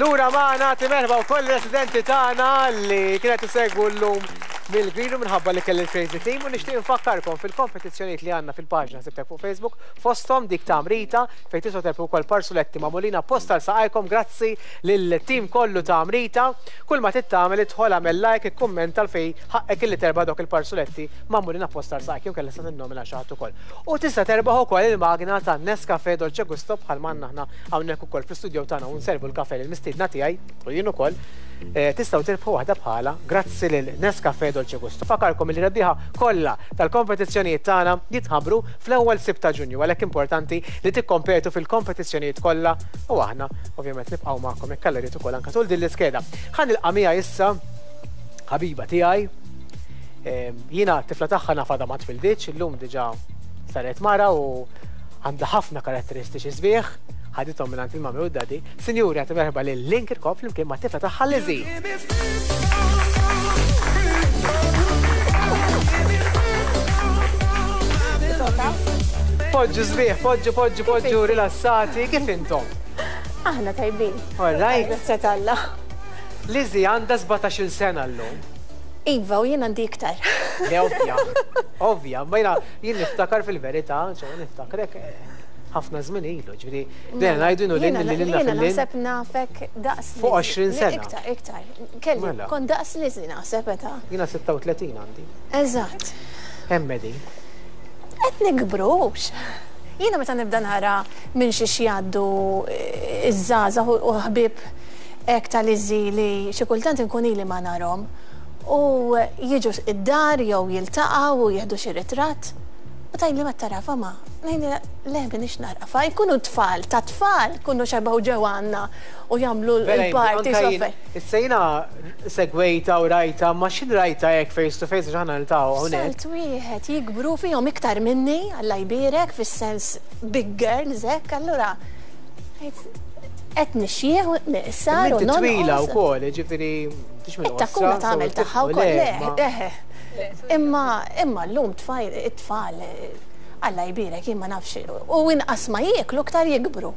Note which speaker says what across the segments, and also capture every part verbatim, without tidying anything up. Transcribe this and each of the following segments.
Speaker 1: Lura magħna, merħba wkoll residenti tagħna li kienet isegwu llum mill-Green Room minħabba li kelli l-Crazy Team, u nixtieq infakkarkom fil-kompetizzjonijiet li għandna fil-paġna Sibtek fuq Facebook, fosthom dik ta' Amrita, fejn tistgħu terbħu wkoll parsuletti magħmulin apposta għal saqajkom grazzi lill-tim kollu ta' Amrita. Kull ma trid tagħmel, idħol, agħmel like, ikkummenta fejn ħaqqek illi terbaħ dawk il-parsuletti magħmulin apposta għal saqajk, jew inkella sa tinnomina xi ħadd ukoll. U tista' terbaħ ukoll il-magna ta' Nescafe Dolce Gusto bħal m'għandna aħna hawnhekk ukoll fl-istudio tagħna u nservu l-kafe lill-mistiedna tiegħi u jien ukoll. Eh, tistgħu tirbħu waħda bħala grazzi lil Nescafe Dolce Gusto. Infakkarkom li rebbieħa kollha tal-kompetizzjonijiet tagħna jitħabbru fl-ewwel Sibt ta' Ġunju, għalhekk importanti li tikkompetu fil-kompetizzjonijiet kollha u aħna ovvjament nibqgħu magħkom jekk Alla jrid ukoll anke tul din l-iskeda. Ħa nilqa' miegħi issa ħabiba tiegħi. Jiena tifla tagħha nafada ma twilditx, illum diġà saret mara u għandha ħafna karatteristiċi sbieħ, ħadithom minn għand il-mami u d-daddy. Sinjuri, għati merħba lil Lynn Kirkop flimkien ma' tifla tagħha Lizzie. Poġġu sbieħ, poġġu, poġġu, poġġu, rilassati, kif intom?
Speaker 2: Aħna tajbin.
Speaker 1: All right.
Speaker 2: Grazie t'Alla.
Speaker 1: Lizzie għandha sbatax-il sena llum.
Speaker 2: Iva, u jien għandi iktar.
Speaker 1: Le, ovvja, ovvja, ma jiena jien niftakar fil-verità, ċo niftakrek ħafna żmien ilu, ġifieri, dejjem ngħidu inhu lin li lilna
Speaker 2: Jiena
Speaker 1: fil-lin.
Speaker 2: naħseb nafek daqs
Speaker 1: Fuq
Speaker 2: Lizzie.
Speaker 1: għoxrin sena.
Speaker 2: Iktar, iktar. Kelli,
Speaker 1: Mela.
Speaker 2: kont daqs Lizzie naħseb meta.
Speaker 1: Jiena sitta u tletin għandi.
Speaker 2: Eżatt.
Speaker 1: Hemm qegħdin.
Speaker 2: Qed nikbrux. Jiena meta nibda nara minn xi jgħaddu iż-żgħażagħ u ħbieb hekk ta' Lizzie li xi kultant inkun ili ma narhom u jiġu id-dar jew jiltaqgħu u jieħdu xi ritratt. U tgħidli ma tarafa ma, ngħidli le m'iniex narafa, jkunu tfal, ta' tfal, kunu xebgħu ġew għandna u jagħmlu
Speaker 1: Vera,
Speaker 2: l-party.
Speaker 1: anka jien, issa jiena segwejta u rajta, ma xin rajta hekk face to face għax aħna niltaqgħu hawnhekk.
Speaker 2: Salt wieħed jikbru fihom iktar minni, Alla jbierek, fis-sens big girls hekk, allura qed nixjieħ u niqsar u
Speaker 1: Inti twila
Speaker 2: nonqos.
Speaker 1: wkoll, jiġifieri tix minn
Speaker 2: It-takkuna
Speaker 1: qosra,
Speaker 2: tagħmel
Speaker 1: so
Speaker 2: tagħha
Speaker 1: tifqu
Speaker 2: wkoll,
Speaker 1: le,
Speaker 2: le,
Speaker 1: ma-
Speaker 2: eħe. Imma imma llum tfajl, it-tfal, Alla jbierek, jien ma nafx, u inqas ma jieklu iktar jikbru.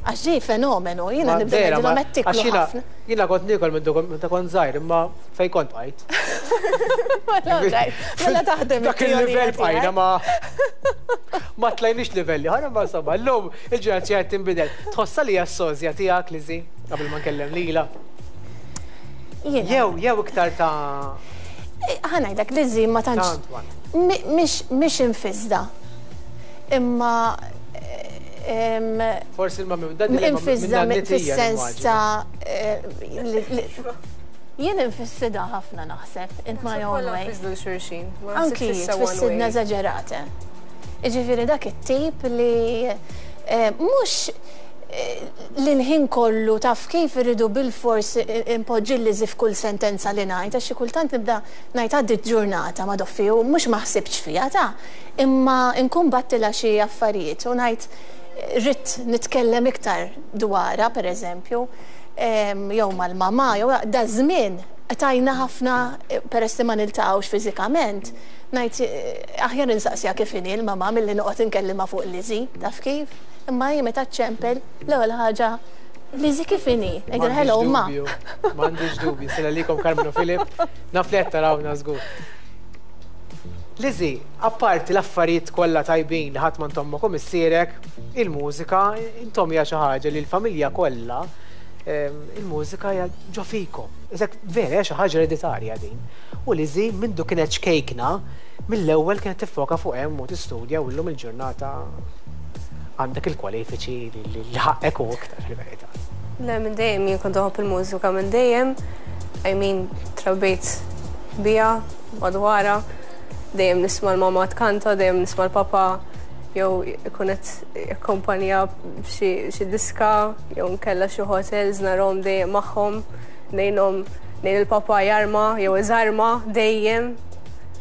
Speaker 2: Għax ġie fenomenu, jiena
Speaker 1: Ma
Speaker 2: nibda
Speaker 1: vera,
Speaker 2: ngħidilhom
Speaker 1: ma-
Speaker 2: qed tiklu
Speaker 1: għax jiena-
Speaker 2: ħafna.
Speaker 1: Jiena kont niekol minn dokom- meta kont żgħir, imma fejn kont bqajt.
Speaker 2: Mela taħdem
Speaker 1: Dak il-livell
Speaker 2: it-teorija
Speaker 1: bqajna
Speaker 2: tiegħek.
Speaker 1: ma ma tlajniex livelli, ħara ma insomma, llum il-ġenerazzjoni qed tinbidel. Tħossha li hija s-sozja tiegħek, Lizzie, qabel ma nkellem lilha.
Speaker 2: Jiena.
Speaker 1: Jew, jew iktar ta'
Speaker 2: Ħa ngħidlek, Lizzie ma tantx
Speaker 1: Ta' Antoine.
Speaker 2: mi- mhix mhix infisda. Imma em,
Speaker 1: Forsi l-mami u d-daddy li ma-
Speaker 2: infisda
Speaker 1: minn nannitija
Speaker 2: fis-sens
Speaker 1: nimmaġina.
Speaker 2: ta' eh, li- li- jien infissida ħafna naħseb, in my own
Speaker 3: Kollha
Speaker 2: way.
Speaker 3: nfissdu l-xulxin. Ma
Speaker 2: Anki
Speaker 3: naħsibx issa one
Speaker 2: tfissidna
Speaker 3: way.
Speaker 2: eżaġerate. Jiġifieri dak it-tip li eh, mhux eh, li l-ħin kollu taf kif irridu bil-fors impoġġi Lizzie f'kull sentenza li ngħid, għax xi kultant nibda ngħid għaddit ġurnata ma doffi u mhux ma ħsibtx fiha ta' imma nkun battilha xi affarijiet u ngħid rrid nitkellem iktar dwarha, per eżempju, em, jew mal-mama, jew da żmien tajna ħafna eh, peress li ma niltaqgħux fiżikament, ngħid eh, aħjar insaqsija kif inhi l-mama milli noqgħod inkellimha fuq Lizzie, taf kif? Imma hi meta ċempel l-ewwel ħaġa Lizzie kif inhi? Ngħidilha hello ma.
Speaker 1: M'għandix dubju, sela likom Carmen u Filip, naf li qed tarawna żgur. Lizzie, apparti l-affarijiet kollha tajbin li ħadd m'għand ommok u missierek, il-mużika intom hija xi ħaġa li l-familja kollha em, il-mużika hija ġo fikom. Iżek vera hija xi ħaġa ereditarja din. U Lizzie mindu kienet ċkejkna, mill-ewwel kienet tiffoka fuq hemm u tistudja u llum il-ġurnata għandek il-kwalifiċi li li ħaqqek u iktar fil-verità.
Speaker 3: Le, minn dejjem jien kont inħobb il-mużika minn dejjem. I mean, trabbejt bija, madwara, dejjem nisma' l-mama tkanta, dejjem nisma' l-papa jew ikun qed jakkompanja xi xi diska, jew nkella xi hotels narahom dejjem magħhom, ngħinhom ngħin il-papa jarma jew iżarma dejjem.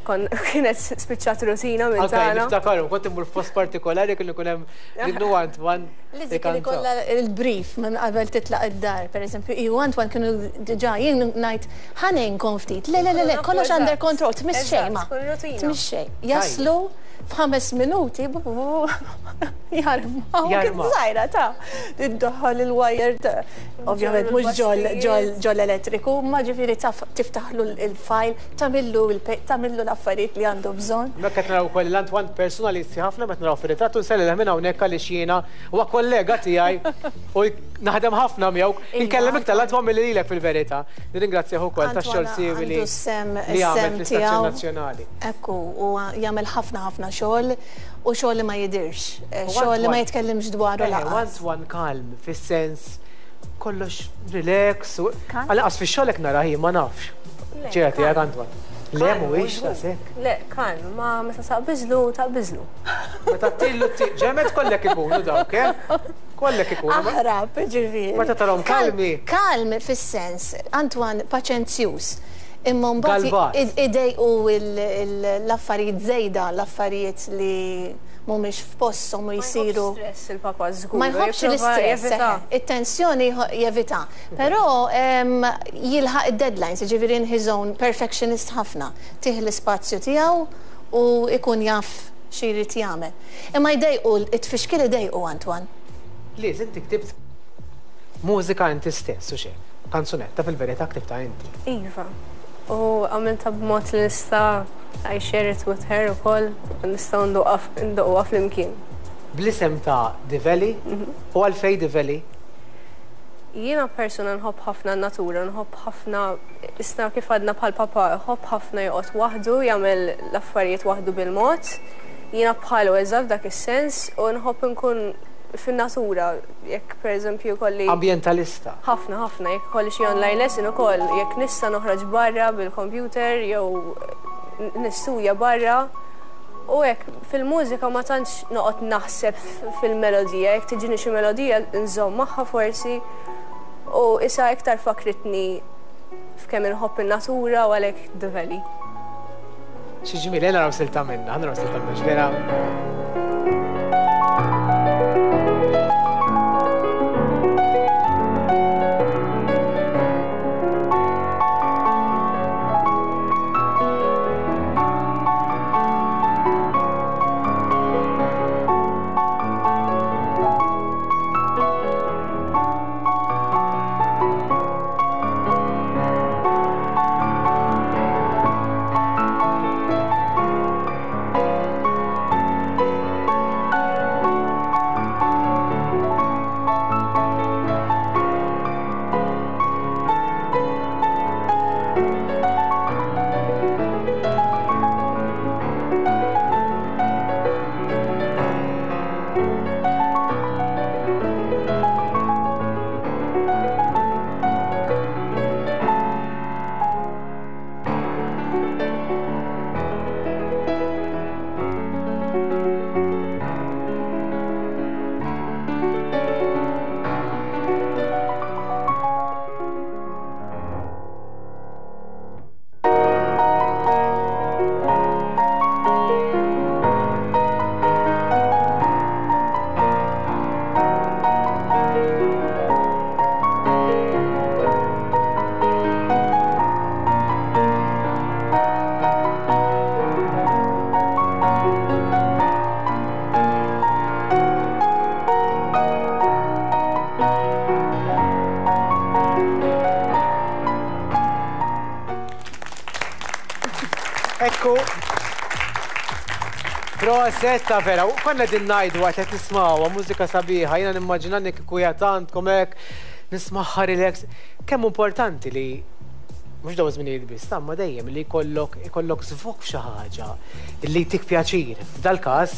Speaker 3: Kon kienet spiċċat rutina minn
Speaker 1: Anka
Speaker 3: tagħna.
Speaker 1: niftakarhom, kont immur f'post partikolari kien ikun hemm Linnu Antoine
Speaker 2: Lizzie kien ikollha il-brief minn qabel titlaq id-dar, per eżempju, ju Antoine kienu diġà jien ngħid ħa ngħinkom ftit. Le, le, le, le, kollox under control, tmiss xejn ma.
Speaker 3: Eżatt, tkun rutina.
Speaker 2: Tmiss xejn. Jaslu F'ħames minuti jarma. Kien żgħira ta' iddaħħal il-wire ta' ovvjament mhux ġol elettriku, ma ġifieri tiftaħlu il-file, tagħmillu tagħmillu l-affarijiet li għandu bżonn.
Speaker 1: Mekk qed naraw ukoll l-Antoine personalisti ħafna meta naraw fir-ritratt u nsellilha minn hawnhekk għaliex jiena huwa kollega tiegħi u naħdem ħafna miegħu. Inkellem iktar l-Antoine milli lilek fil-verità. Nirringrazzjah ukoll tax-xogħol siewi li jagħmel fl-Istazzjon Nazzjonali.
Speaker 2: Ekku, u jagħmel ħafna ħafna xogħol u xogħol li ma jidirx, xogħol li ma jitkellimx dwaru lanqas.
Speaker 1: Antoine kalm, fis-sens kollox relax. Għalqas fix-xogħol hekk nara hi ma nafx. Ċerti jekk Antoine. Le mhuwiex daqshekk.
Speaker 3: Le, kalm, ma meta taqbiżlu taqbiżlu.
Speaker 1: Meta tillu ġemet kollek ikunu dawk, eh? Kollek ikunu.
Speaker 2: Aħrab, ġifieri.
Speaker 1: Meta tarahom kalmi.
Speaker 2: Kalm fis-sens, Antoine paċenzjuż. Imma mbagħad idejqu l-affarijiet żejda, l-affarijiet li mhumiex f'posthom u jsiru.
Speaker 3: Ma jħobbx stress il-papa żgur.
Speaker 2: Ma jħobbx l-istress, it-tensjoni jevita. Però jilħaq id-deadlines, jiġifieri in his own perfectionist ħafna. Tih l-ispazju tiegħu u ikun jaf xi jrid jagħmel. Imma jdejqu, it-tfixkil idejqu Antoine.
Speaker 1: Liz, inti ktibt mużika inti stess u xejn. Kanzunetta fil-verità ktibta inti.
Speaker 3: Iva. U għamilta b'mod li nista' I share it with her ukoll, nistgħu ndoqquha flimkien.
Speaker 1: Bl-isem ta' The Valley u għalfejn The Valley?
Speaker 3: Jiena persuna nħobb ħafna n-natura, nħobb ħafna, issa kif għadna bħal papa, nħobb ħafna joqgħod waħdu, jagħmel l-affarijiet waħdu bil-mod. Jiena bħalu eżatt f'dak is-sens u nħobb nkun fin-natura, jekk pereżempju kolli.
Speaker 1: Ambientalista.
Speaker 3: Ħafna, ħafna, jekk kolli xi online lesson ukoll, jekk nista' noħroġ barra bil-computer jew nistudja barra. U hekk fil-mużika ma tantx noqgħod naħseb fil-melodija, jekk tiġini xi melodija nżomm magħha forsi u issa iktar fakritni f'kemm inħobb in-natura u għalhekk The Valley.
Speaker 1: Xi ġmiel, naraw silta minnha, naraw silta minnha, vera. Ekku. Prosetta vera, u konna din ngħidu għat qed nismgħuha mużika sabiħa, jiena nimmaġina kieku għandkom hekk nismagħha relax. Kemm importanti li mhux dawn iż-żminijiet biss, ma dejjem li jkollok ikollok żvok f'xi ħaġa li jtik pjaċir. F'dal-każ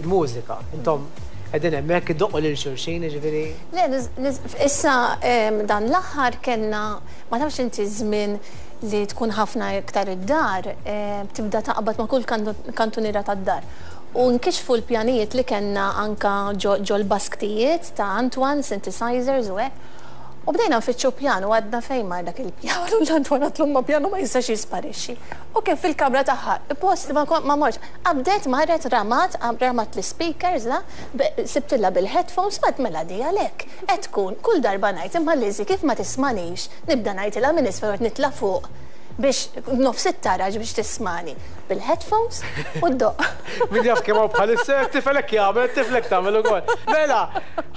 Speaker 1: il-mużika. Intom qegħdin hemmhekk iddoqqu lil xulxin, jiġifieri.
Speaker 2: Le, issa dan l-aħħar kellna ma tafx inti żmien li tkun ħafna iktar id-dar, tibda taqbad ma' kull kantuniera tad-dar. U nkixfu l-pjanijiet li kellna anka ġol basktijiet ta' Antoine, synthesizers u hekk. U bdejna nfittxu pjanu, għadna fejn mar dak il-pjanu, l-Antoine għatlu ma pjanu ma jistax jisparixxi. U kif fil-kamra tagħha, post ma morx, qabdet marret ramat, ramat l-speakers, la, sibtilla bil-headphones, mat mela di għalhekk. Qed tkun kull darba ngħid imma Lizzy kif ma tismanix, nibda ngħidilha minn isfel nitla' fuq Biex nofs it-taraġ biex tismani bil-headphones u ddoqq.
Speaker 1: Min jaf kemm hawn bħalissa tifel hekk jagħmel, tifel hekk tagħmel ukoll. Mela,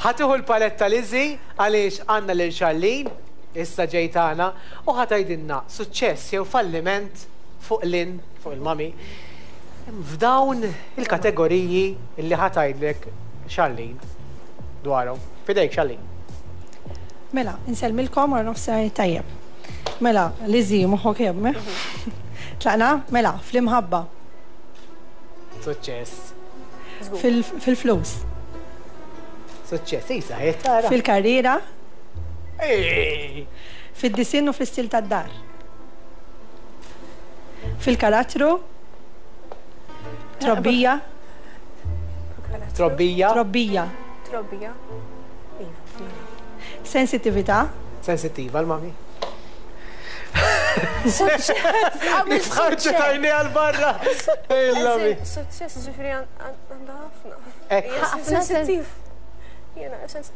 Speaker 1: ħa tieħu l-paletta Lizzy għaliex għandna lil Charlene, issa ġejtana, u ħa tgħidilna suċċess jew falliment fuq Lynn, fuq il-mami, f'dawn il-kategoriji li ħa tgħidlek Charlene dwarhom. F'idejk, Charlene.
Speaker 4: Mela, insellmilkom wara nofsinhar tajjeb. Mela, Lizzy, moħħok hemm, eh? Tlaqna? Mela, fl-imħabba.
Speaker 1: Suċċess.
Speaker 4: Fil- Fil-flus.
Speaker 1: Suċċess, isa, tara.
Speaker 4: Fil-karriera.
Speaker 1: Ej!
Speaker 4: Fid-disinn u fl-istil tad-dar. Fil-karattru. Trobbija.
Speaker 1: Trobbija.
Speaker 4: Trobbija.
Speaker 3: Trobbija. Iva.
Speaker 4: Sensitività.
Speaker 1: Sensittiva l-mami.
Speaker 2: Għamil
Speaker 1: Ħarġet għajni għal-barra. Il-mami.
Speaker 3: Suċċess ġifieri għandha ħafna.
Speaker 1: Ekk.
Speaker 2: Ħafna
Speaker 3: Sensittiv. Jiena sens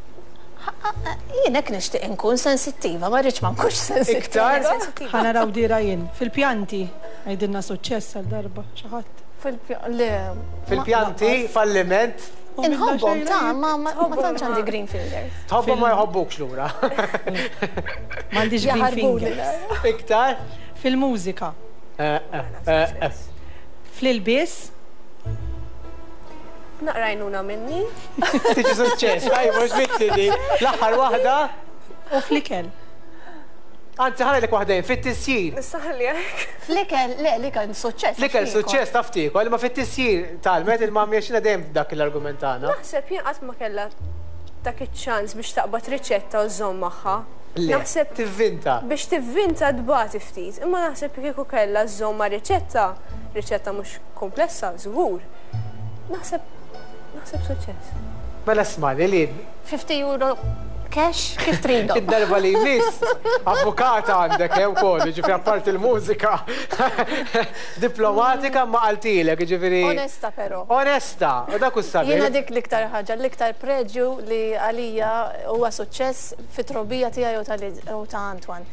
Speaker 2: Jien hekk nixtieq inkun sensittiva, ma rridx ma nkunx sensittiva.
Speaker 1: Iktar?
Speaker 3: sensittiva.
Speaker 4: Ħa naraw dira jien. Fil-pjanti. Għidilna suċċess għal darba. Xi ħadd.
Speaker 2: Fil-pjanti.
Speaker 1: Fil-pjanti, falliment.
Speaker 2: Inħobbhom ta' ma ma ma tantx għandi green fingers.
Speaker 1: Tħobbhom ma jħobbukx lura.
Speaker 4: M'għandix green
Speaker 2: Jaħarbuli.
Speaker 4: fingers.
Speaker 1: Iktar?
Speaker 4: Fil-mużika.
Speaker 1: Eh, eh, eh, eh.
Speaker 4: Fl-ilbies.
Speaker 3: Naqra għajnuna minni.
Speaker 1: Tiġi suċċess, tajba, mhux bitti L-aħħar waħda,
Speaker 4: U fl-ikel.
Speaker 1: anzi ħalli waħdejn, fit-tisjir.
Speaker 3: Nistaħli hekk.
Speaker 2: Fl-ikel, le, l-ikel suċċess.
Speaker 1: L-ikel suċċess taf tiekol, ma fit-tisjir talmet il-mami għaxina dejjem dak l-argument tagħna.
Speaker 3: Naħseb jien qatt ma kellha dak iċ-ċans biex taqbad riċetta u żżomm magħha.
Speaker 1: Le,
Speaker 3: Naħseb
Speaker 1: tivvinta.
Speaker 3: biex tivvinta tbati ftit, imma naħseb kieku kellha żżomm ma' riċetta, riċetta mhux komplessa, żgur. Naħseb naħseb suċċess.
Speaker 1: Mela smani li
Speaker 2: fifty euro cash, kif tridhom?
Speaker 1: id-darba li jmiss, avukata għandek jew ukoll, ġifieri apparti il-mużika. Diplomatika ma qaltilek, ġifieri.
Speaker 2: Onesta però.
Speaker 1: Onesta, u dak sabiħ.
Speaker 2: Jiena dik l-iktar ħaġa, l-iktar preġju li għalija huwa suċċess fit-trobbija tiegħi u tal- u ta' Antoine.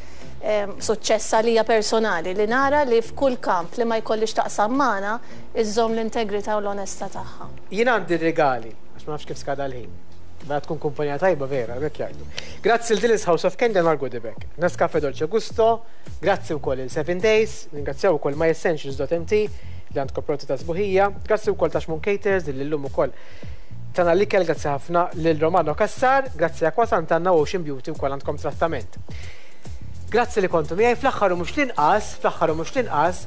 Speaker 2: Em, Suċċess għalija personali li nara li f'kull kamp li ma jkollix taqsam magħna iżżomm l-integrità u l-onestà tagħha.
Speaker 1: Jien għandi regali, għax ma nafx kif skada l-ħin. Ma tkun kumpanija tajba vera, hekk jgħidu. Grazzi l Dillis House of Candy għal goodie bag. Nescafe Dolce Gusto, grazzi wkoll il Seven Days, ringrazzjaw ukoll myessentials dot M T li għandkom prodotti ta' sbuħija, grazzi wkoll ta' Xmun Caters li llum ukoll tana l-ikel, grazzi ħafna lil Romano Kassar, grazzi Aqua Sant'Anna Ocean Beauty wkoll għandkom trattament. Grazzi li kontu miegħi. Fl-aħħar u mhux l-inqas, fl-aħħar u mhux l-inqas,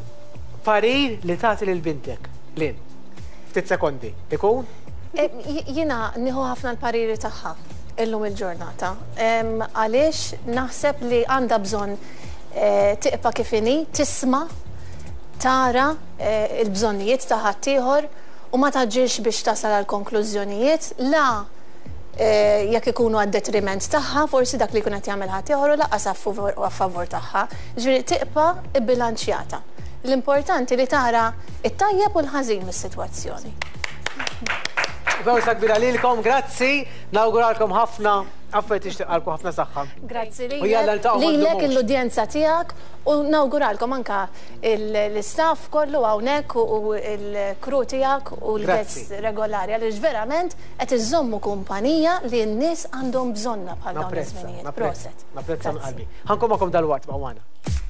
Speaker 1: parir li tagħti lil bintek. Lin, ftit sekondi. Ikun?
Speaker 2: E, Jiena nieħu ħafna l-pariri tagħha illum il-ġurnata. Em, Għaliex naħseb li għandha bżonn eh, tibqa' kif inhi, tisma', tara eh, il-bżonnijiet ta' ħaddieħor u ma taġġilx biex tasal għal konklużjonijiet la eh, jekk ikunu għad detriment tagħha, forsi dak li jkun qed jagħmel ħaddieħor u lanqas a favur a favur tagħha. Ġifieri tibqa' bbilanċjata. L-importanti li tara it-tajjeb u l-ħażin mis-sitwazzjoni.
Speaker 1: Bewsa kbira lilkom, grazzi, nawguralkom ħafna, affarijiet nixtieqilkom ħafna saħħa.
Speaker 2: Grazzi
Speaker 1: U jalla niltaqgħu ma
Speaker 2: lilek,
Speaker 1: ndumux.
Speaker 2: l-udjenza tiegħek u nawguralkom anka l-istaff kollu hawnhekk u l-crew tiegħek u l-guests
Speaker 1: Grazzi.
Speaker 2: regolari għaliex verament qed iżommu kumpanija li n-nies għandhom bżonna bħal dawn
Speaker 1: Napprezza,
Speaker 2: iż-żminijiet.
Speaker 1: napprezza,
Speaker 2: Proset.
Speaker 1: napprezza minn
Speaker 2: Grazzi.
Speaker 1: qalbi. Ħa nkun magħkom dalwaqt, ma'